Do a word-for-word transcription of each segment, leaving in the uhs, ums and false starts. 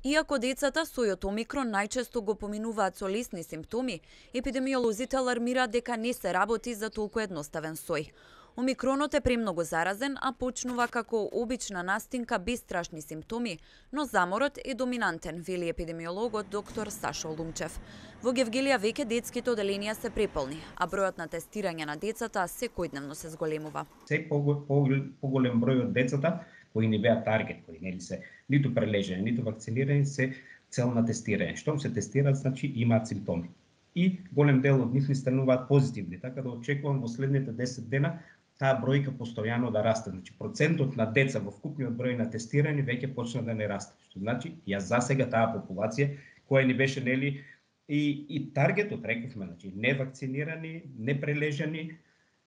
Иако децата сојот омикрон најчесто го поминуваат со лесни симптоми, епидемиолозите алармираат дека не се работи за толку едноставен сој. Омикронот е премногу заразен, а почнува како обична настинка без страшни симптоми, но заморот е доминантен, вели епидемиологот доктор Сашо Лумчев. Во Гевгелија веќе детските оделенија се преполни, а бројот на тестирање на децата секојдневно се зголемува. Се поголем број од децата кои не беа таргет, кои нели се ниту прележени, ниту вакцинирани, се цел на тестирање. Штом се тестираат, значи имаат симптоми. И голем дел од нив ни стануваат позитивни, така да очекувам во следните десет дена таа бројка постојано да расте. Значи процентот на деца во вкупниот број на тестирани веќе почна да не расте. Што значи ја засега таа популација која ни беше нели и и таргетот, рековме, значи невакцинирани, непрележани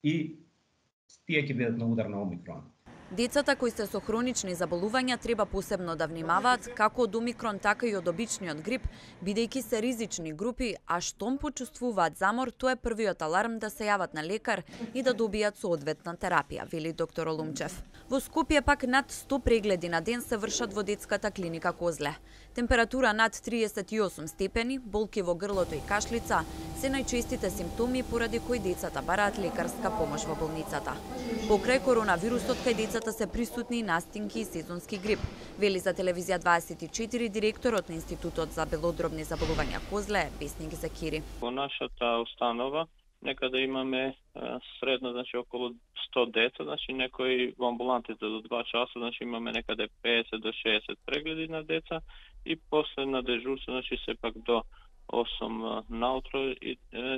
и тие ќе бидат на удар на омикрон. Децата кои се со хронични заболувања треба посебно да внимаваат како од омикрон, така и од обичниот грип, бидејќи се ризични групи, а штом почувствуваат замор, тоа е првиот аларм да се јават на лекар и да добијат соодветна терапија, вели доктор Лумчев. Во Скопје пак над сто прегледи на ден се вршат во детската клиника Козле. Температура над триесет и осум степени, болки во грлото и кашлица се најчестите симптоми поради кои децата бараат лекарска помош во болницата. Покрај коронавирусот кај децата се присутни настинки и сезонски грип, вели за телевизија дваесет и четири директорот на Институтот за белодробни заболувања Козле, Весник Закири. Во нашата установа некаде имаме средно, значи околу сто деца, значи некои во амбулантите до два часа, значи имаме некаде педесет до шеесет прегледи на деца и после на дежурство, значи сепак до осум наутро и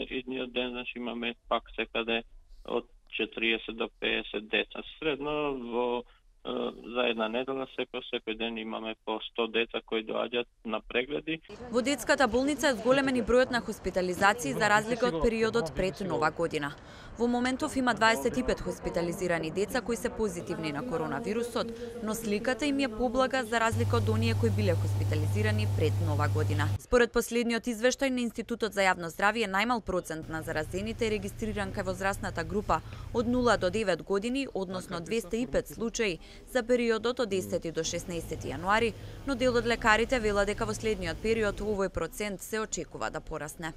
идниот ден, значи имаме пак секаде од четириесет до педесет деца. Средно во за една недела секој секој ден имаме по сто деца кои доаѓаат на прегледи. Во детската болница е зголемен и бројот на хоспитализации за разлика од периодот пред Нова година. Во моментов има дваесет и пет хоспитализирани деца кои се позитивни на коронавирусот, но сликата им е поблага за разлика од оние кои биле хоспитализирани пред Нова година. Според последниот извештај на Институтот за јавно здравје, најмал процент на заразените е регистриран кај возрастната група од нула до девет години, односно двесте и пет случаи за периодот од десети до шеснаесети јануари, но дел од лекарите велат дека во следниот период овој процент се очекува да порасне.